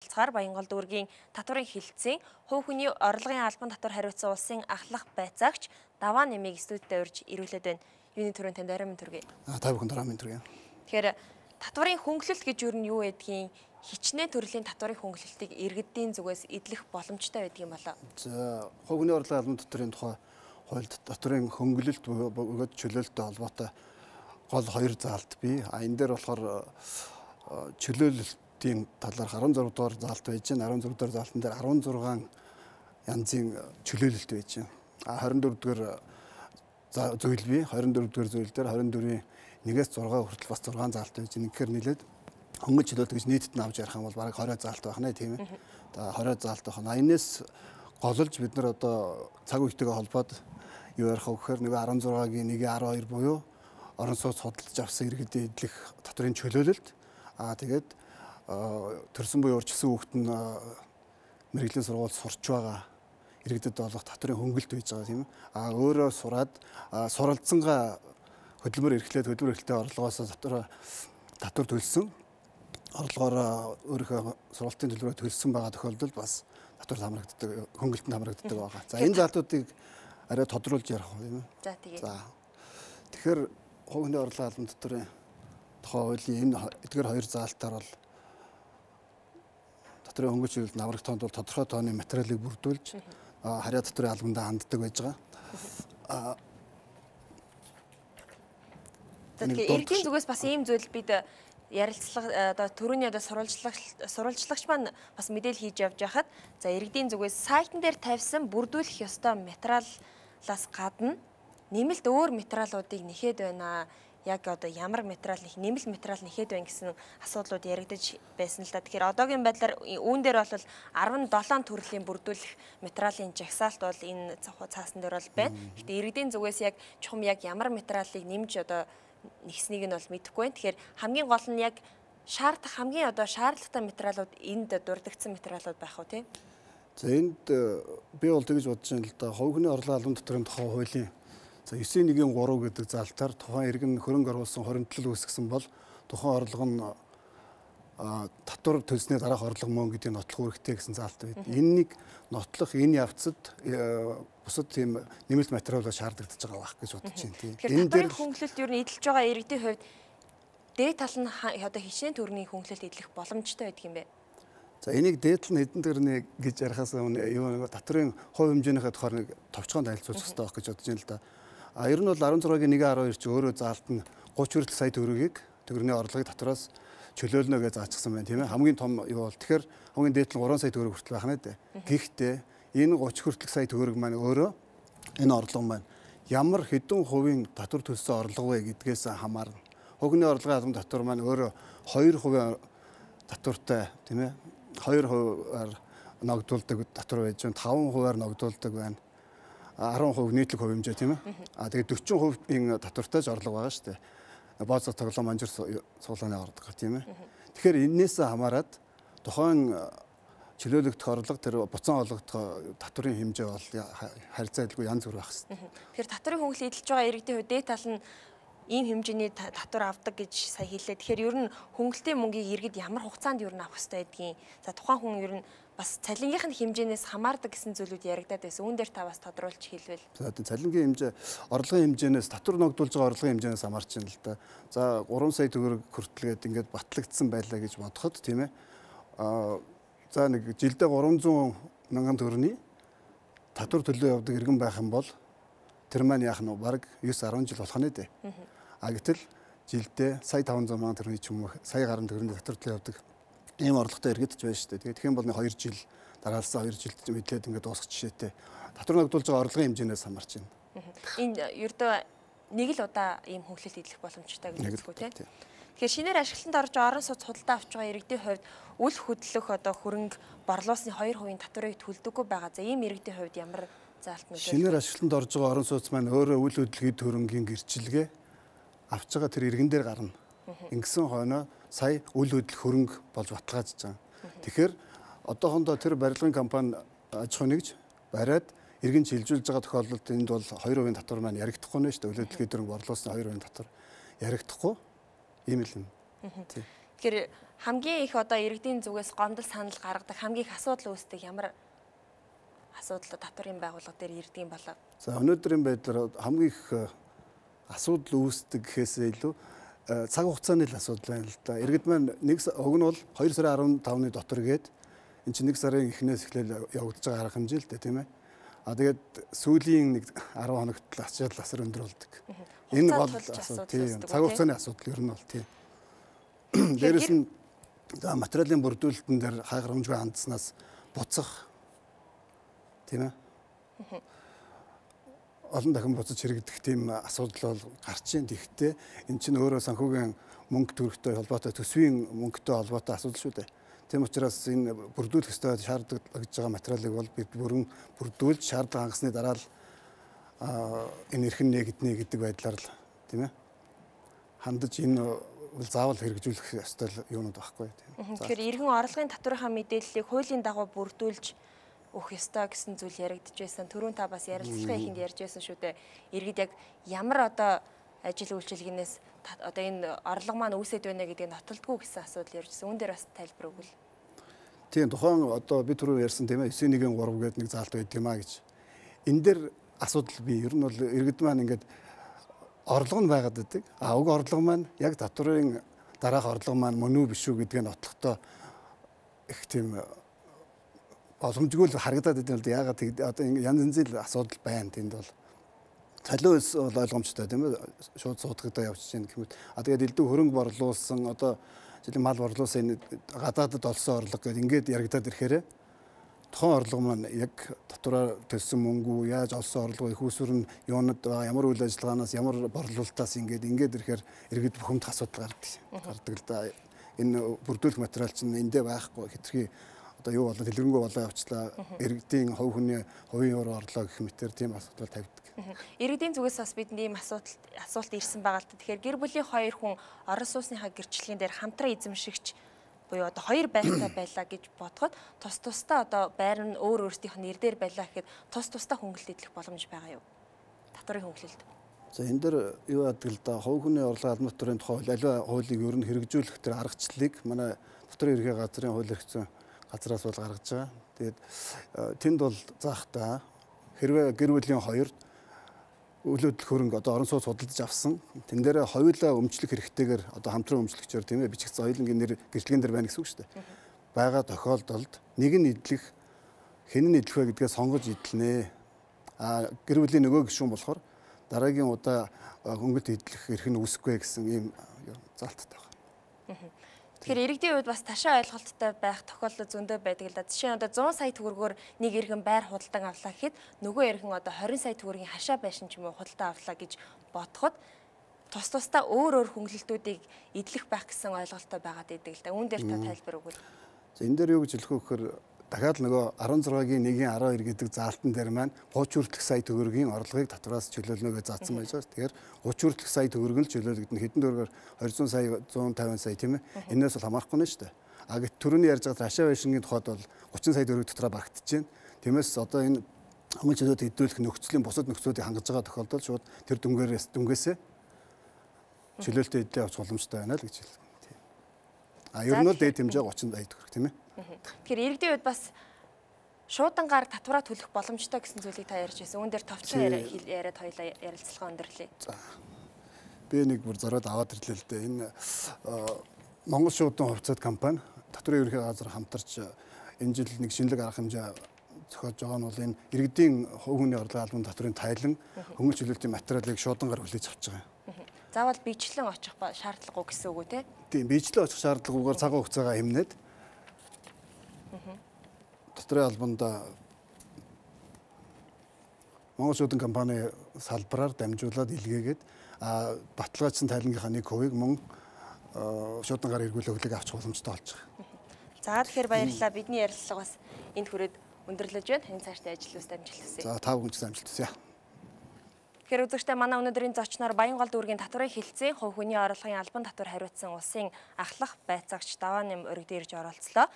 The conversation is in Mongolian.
Цаар Баянгол дүүргийн татварын хилцэн хувь хүний орлогын албан татвар хариуцсан улсын ахлах байцаагч Даваа нэмийг студид урьж ирүүлээд байна. Юуны төрөнд танд арай мэд төргий. Та бүхэнд арай мэд төргий. Тэгэхээр татварын хөнгөлөлт гэж юу нь юу байдгийг хичнээн төрлийн татварын хөнгөлөлтийг иргэдийн зүгээс эдлэх боломжтой байдаг юм болоо. За хувь хүний орлогын албан татварын тухай хуульд татварын хөнгөлөлт бөгөөд чөлөөлттэй холбоотой гол хоёр заалт бий. Энэ дээр болохоор чөлөөлөлтийн талаарх 16 дугаар заалт байж байна. 16 дугаар заалтан дээр 16 янзын чөлөөлөлт байж байна. 24 дугаар зүйл бий. 24 дугаар зүйл дээр 24-ийн 1-ээс 6 хүртэл бас 6 заалт байж байна. Тэгэхээр нийлээд хөнгөн чөлөөлт гэж нийтэд нь авч ярих юм бол бараг 20 заалт байх нэ тийм ээ. За 20 заалт байна. Энэс голж бид нар одоо цаг үетэйгээ холбоод юу ярих вэ гэхээр нэг 16-гийн 1-12 буюу орон сууц судалж авсан иргэдэд эдлэх татварын чөлөөлөлт. Тэгээд төрсөн буюу урьдчилсан хүүхэд нь мэрэгжлийн сургууль сурч байгаа иргэдэд болох татварын хөнгөлт байж байгаа тийм ээ. Өөрөө сураад суралцсангаа хөдөлмөр эрхлэлтэй орлогоос татвар төлсөн орлогоор өөрийнхөө сургалтын төлбөрөөр төлсөн байгаа тохиолдолд бас татвар хамрагддаг, хөнгөлтөнд хамрагддаг байгаа. За энэ заалтуудыг арай тодруулж ярих юм. За тэгээ. За тэгэхээр хувь хүний орлогын албан татварын тухай хуулийн энэ эдгээр хоёр заалтаар бол татварын хөнгөлт чөлөөт хамрагдахад бол тодорхой тооны материалыг бүрдүүлж харьяа татварын албандаа ханддаг байж байгаа. Тэгэхээр иргэдийн зүгээс бас ийм зүйл бид ярилцлага одоо төрөний одоо сурвалжлагч маань бас мэдээлэл хийж явж байхад за иргэдийн зүгээс сайтн дээр тавьсан бүрдүүлэх ёстой материалаас гадна нэмэлт өөр материалуудыг нэхэд байна. Яг одоо ямар материал нэмэлт материал нэхэд байна гэсэн асуудлууд яригдаж байсан л да. Тэгэхээр одоогийн байдлаар үүн дээр бол 17 төрлийн бүрдүүлэх материалын жагсаалт бол энэ цаасан дээр бол байна. Гэхдээ иргэдийн зүгээс яг чухам яг ямар материалыг нэмж одоо нэгснийг нь бол мэдэхгүй байна. Тэгэхээр хамгийн гол нь яг хамгийн одоо шаардлагатай материалууд энд дурддагдсан материалууд байх уу тийм. За энд би бол тэгж бодож байна л да. Хувь хүний орлогын албан татварын тухай хуулийн 9.1.3 гэдэг заалтаар тухайн иргэн хөрөнгө оруулсан хоримтлал үүсгэсэн бол тухайн орлого нь татвар төлсний дараах орлого мөн гэдгийг нотлох үүрэгтэй гэсэн заалт байд. Энэнийг нотлох энэ явцад бусад тийм нэмэлт материалууд шаардлагадж байгаа байх гэж бодож байна тийм. Энэ дээр хөнгөлөлт юу нь эдэлж байгаа иргэдийн хувьд дээд тал нь одоо хичнээн төрний хөнгөлөлт эдлэх боломжтой байдаг юм бэ? За энийг дээд нь хэдэн төрний гэж ярихаас өмнө юу нэг татварын хувь хэмжээнийхээ тухай нэг товчхон танилцуулах хэрэгтэй байх гэж бодож байна л да. Ер нь бол 16-гийн 1-12 чи өөрөө заалт нь 30 хүртэл сая төгрөгийг төгрөгийн орлогыг татвараас чөлөөлнө гэж заажсан байна тийм ээ. Хамгийн том юу бол тэгэхээр хамгийн дээд нь 3 сая төгрөг хүртэл байх нэ. Гэхдээ энэ 30 хүртэлх сая төгрөг маань өөрөө энэ орлого маань ямар хэдэн хувийн татвар төлсөн орлого вэ гэдгээс хамаарна. Хувийн орлогын албан татвар маань өөрөө 2% татвартай тийм ээ. 2%-аар ногдуулдаг татвар байж байна. 5%-аар ногдуулдаг байна. 10% нийтлэг хувь хэмжээ тийм ээ. Тэгээд 40%-ийн татвартай ч орлого байгаа шүү дээ. Бооцоо тоглоом манжир суулгааны орлого тийм ээ. Тэгэхээр энээс хамаарат тухайн чөлөөлөгдөх орлого тэр буцаан олгогдох татварын хэмжээ бол харьцаа илгүй янз бүр байх хэрэгтэй. Тэгэхээр татварын хөнгөлөлт эдэлж байгаа иргэдийн хувьд дээд тал нь ийм хэмжээний татвар авдаг гэж сая хэллээ. Тэгэхээр ер нь хөнгөлтийн мөнгийг иргэд ямар хугацаанд ер нь авах хэрэгтэй байдгийг. За тухайн хүн ер нь бас цалингийнх нь хэмжээнээс хамаардаг гэсэн зүйлүүд яригадаад байсан. Үүн дээр та бас тодруулж хэлвэл. За цалингийн хэмжээ орлогын хэмжээнээс татвар ногдуулж байгаа орлогын хэмжээнээс хамаарч байна л да. За 3 сая төгрөг хүртэлгээд ингээд батлагдсан байлаа гэж бодоход тийм ээ. За нэг жилдээ 300 мянган төгрөний татвар төлөө явдаг иргэн байх юм бол тэр маань яах нь баг 9-10 жил болох нэ дээ. Гэтэл жилдээ сая 500 мянган төгрөний ч юм уу сая гаруй төгрөний татвар төлөө явдаг ийм орлоготой иргэдч байна шүү дээ. Тэгээд тэгэх юм бол 2 жил дараалсан 2 жилд мэдлээд ингээд дуусах жишээтэй татвар ногдуулж байгаа орлогын хэмжээнээс хамаарч байна. Энэ ердөө нэг л удаа ийм хөнгөлөлт эдлэх боломжтой гэж үздэг тийм. Тэгэхээр шинээр ашиглалтанд орж орон сууц худалдаа авч байгаа иргэдийн хувьд үл хөдлөх одоо хөрөнгө борлуулсны 2% татварыг төлдөггүй байгаа. За ийм иргэдийн хувьд ямар заалт нөлөө? Шинээр ашиглалтанд орж байгаа орон сууц маань өөрөө үл хөдлөгийн төрөнгийн гэрчилгээ авч байгаа тэр иргэн дээр гарна. Ингэсэн хойноо сая үл хөдлөх хөрөнгө болж баталгаажж байгаа. Тэгэхээр одоохондоо тэр барилгын компани аж ахуй нэгж бариад иргэн шилжүүлж байгаа тохиолдолд энд бол 2% татвар маань яригдахгүй нэ шүү дээ. Үл хөдлөгийн төрөнг борлуулсан 2% татвар яригдахгүй ийм л юм. Тэгэхээр хамгийн их одоо иргэдийн зүгээс гомдол санал гаргадаг хамгийн их асуудал үүсдэг ямар асуудал татварын байгууллага дээр ирдэг юм болоо. За өнөөдрийн байдлаар хамгийн их асуудал үүсдэг гэхээсээ илүү цаг хугацааны л асуудал байна л да. Иргэд маань уг нь бол 2 сарын 15-ны дотор гээд эн чинь 1 сарын эхнээс эхлээл явагдаж байгаа арга хэмжээ л дээ тийм ээ. Тэгээд сүүлийн 1 10 хоногт л ачаал асар өндөр болдог. Энэ бол асуудал. Цаг хугацааны асуудал ер нь бол тийм. Дээрээс нь материалын бүрдүүлэлтэн дээр хааграмжгүй хандснаас буцах тийм ээ. Олон дахин буцаж хэрэгдэх тийм асуудал бол гарч ийн. Тэгэхдээ эн чинь өөрөө санхүүгийн мөнгө төрөхтэй холбоотой төсвийн мөнгөтэй холбоотой асуудал шүү дээ. Тийм учраас энэ бүрдүүлэх ёстой шаардлагаж байгаа материалыг бол бид бүрэн бүрдүүлж шаардлага хангасны дараа л энэ эрхэн нэгднэ гэдэг байдлаар л тийм ээ хандаж энэ бол заавал хэрэгжүүлэх ёстой юунууд байхгүй тийм. Тэгэхээр эрхэн орлогын татварынхаа мэдээллийг хуулийн дагуу бүрдүүлж өгөх ёстой гэсэн зүйл яригдж байсан. Түрүүн та бас ярилцлагын ихэнд ярьж байсан шүү дээ. Иргэд яг ямар одоо ажил үйлчилгээнээс одоо энэ орлого маань үүсэт байна гэдгийг нотолдгүй гэсэн асуудал ярьжсэн. Үүн дээр бас тайлбар өгвөл. Тийм тухайн одоо би түрүү ярьсан тийм ээ 9-1-3 гэдэг нэг заалт байдаг юм а гэж. Энэ дээр асуудал бий. Ер нь бол иргэд маань ингээд орлого нь байгаад байдаг. Уг орлого маань яг татварын дараах орлого маань мөн үү биш үү гэдгийг нотлохдоо их тийм боломжгүй л харагдаад байдаг л да. Ягаад одоо янз янзын асуудал байна тэнд бол. Солиос бол ойлгомжтой тийм ээ шууд суудагдаа явж чинь гэмэд. Тэгээд элдв хөрөнгө борлуулсан одоо жишээ мал борлуулсан гадаадд олсон орлого гэдэг ингээд яригадаад ирэхээр тухайн орлого маань яг татвараар төлсөн мөнгө яаж олсон орлого их усүр нь юунад ямар үйл ажиллагаанаас ямар борлуулалтаас ингээд ирэхээр иргэд бүхэмд асуудал гардаг л да. Энэ бүрдүүлэх материал чинь эндээ байхгүй хэтэрхий одоо юу болоо дэлгэрэнгүй болоо явчлаа. Иргэдийн хувь хүний хувийн өрөө орлоо гэх мэтэр тийм асуудал тавьдаг. Иргэдийн зүгээс бас бидэнд ийм асуулт ирсэн байгаа л та. Тэгэхээр гэр бүлийн 2 хүн орон сууцныхаа гэрчлэгийн дээр хамтран эзэмшигч буюу одоо 2 байртай байлаа гэж бодоход тусдаа одоо байр нь өөр өөрсдийнх нь нэр дээр байлаа гэхэд тусдаа хөнгөлөлт идэх боломж байгаа юу? Татварын хөнгөлөлт. За энэ дээр юу яадаг л да хувь хүний орлого албан татварын тухай аливаа хуулийг ер нь хэрэгжүүлэх тэр аргачлалыг манай Татварын ерхий газрын хууль эрхцэн газраас бол гаргаж байгаа. Тэгээд тэнд бол заахтаа хэрвээ гэр бүлийн 2 үйл хөдлөх хөрөнгө одоо орон сууц худалдаж авсан тэн дээр хоёулаа өмчлөх хэрэгтэйгээр одоо хамтран өмчлөгчөөр тийм ээ бичигдсэн соёлын нэр гэрчлэгэн дээр байна гэсэн үг шүү дээ. Бага тохиолдолд нэг нь идэх хэн нь идэх вэ гэдгээ сонгож идэлнэ. Гэр бүлийн нөгөө гишүүн болохоор дараагийн удаа хөнгөлт идэх эрх нь үүсэхгүй гэсэн ийм заалттай байна. Тэгэхээр иргэдийн хувьд бас ташаа ойлголттой байх тохиолдол зөндөө байдаг л да. Жишээ нь одоо 100 сая төгрөгөөр нэг иргэн байр худалдан авлаа гэхэд нөгөө иргэн одоо 20 сая төгрөгийн хашаа байшин ч юм уу худалдан авлаа гэж бодоход тусдаа өөр хөнгөлөлтүүдийг идэлэх байх гэсэн ойлголттой байгаад идэг л да. Үүн дээр та тайлбар өгвөл. Энэ дээр юу гэж хэлэх вэ гэхээр дахиад нөгөө 16-гийн 1-12 гэдэг заалтан дээр маань 30 хүртэлх сая төгрөгийн орлогыг татвараас чөлөөлнө гэж заасан байж байгаа. Тэгэхээр 30 хүртэлх сая төгрөг нь чөлөөлөгдөн хэдэн төгрөгөөр 200 сая 150 сая тийм ээ. Энээс бол хамаарахгүй нэ шүү дээ. Гэт түрүүний ярьж байгаа хашаа байшингийн тухайд бол 30 сая төгрөг дотроо багтж байна. Тиймээс одоо энэ хөнгөн чөлөөт хэдүүлэх нөхцөлийн бусад нөхцөлүүдийг хангаж байгаа тохиолдолд шууд тэр дүнгээсээ чөлөөлтөд эдлээ авч боломжтой байна л гэж хэлсэн. Ер нь бол дээд хэмжээ 30 сая төгрөг тийм ээ. Тэгэхээр иргэдийн хувьд бас шуудангаар татвараа төлөх боломжтой гэсэн зүйлийг та ярьж байсан. Үүн дээр товчхон яриад хоёлаа ярилцлага өндөрлөө. За. Би нэг бүр зориод аваад ирлээ л дээ. Энэ Монгол шуудан хувьцаат компани татварын ерөнхий газар хамтарч энэ жил нэг шинэлэг арга хэмжээ зохиож байгаа нь бол энэ иргэдийн хувь хүний орлогын албан татварын тайлан хөнгөн чөлөөлтийн материалыг шуудангаар хүлээж авч байгаа юм. Заавал биечлэн очих шаардлагагүй гэсэн үг үү те? Тийм, биечлэн очих шаардлагагүйгээр цагаан хугацаагаа хэмнээд Татварын албанд Монгол шуудан компани салбараар дамжуулаад илгээгээд баталгаажсан тайлангийнхаа 1% мөн шуудангаар эргүүлэх хөглийг авчих боломжтой болж байгаа. За тэгэхээр баярлалаа. Бидний ярилцлага бас энд хүрээд өндөрлөж байна. Энэ цаашдаа ажил үст амжилт хүсье. За та бүхэн ч амжилт хүсье. Тэгэхээр үзэгчдээ манай өнөөдрийн зочноор Баянгол дүүргийн татварын хэлтсийн хувь хүний орлогын албан татвар хариуцсан улсын ахлах байцаагч Давааням өргөд ирж оролцлоо.